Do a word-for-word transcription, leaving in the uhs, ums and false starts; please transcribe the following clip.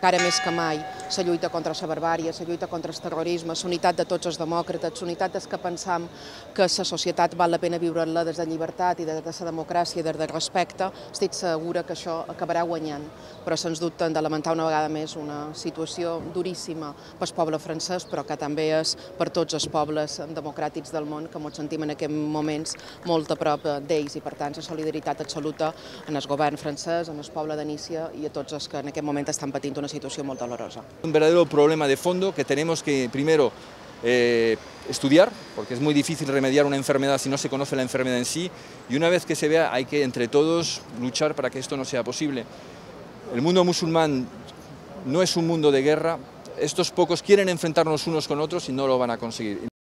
que ara més que mai la lluita contra la barbària, la lluita contra el terrorisme, la unitat de tots els demòcrates, la unitat dels que pensam que la societat val la pena viure-la des de llibertat i des de la democràcia i des del respecte, estic segura que això acabarà guanyant, però sens dubte hem de lamentar una vegada més una situació duríssima pel poble francès, però que també és per tots els pobles democràtics del món, que ens sentim en aquests moments molt a prop d'ells, i per tant la solidaritat absoluta en el govern francès, en el poble de Nícia i a tots els que en aquest moment estan patint una situació molt dolorosa. Un verdadero problema de fondo que tenemos que primero eh, estudiar, porque es muy difícil remediar una enfermedad si no se conoce la enfermedad en sí, y una vez que se vea hay que entre todos luchar para que esto no sea posible. El mundo musulmán no es un mundo de guerra, estos pocos quieren enfrentarnos unos con otros y no lo van a conseguir.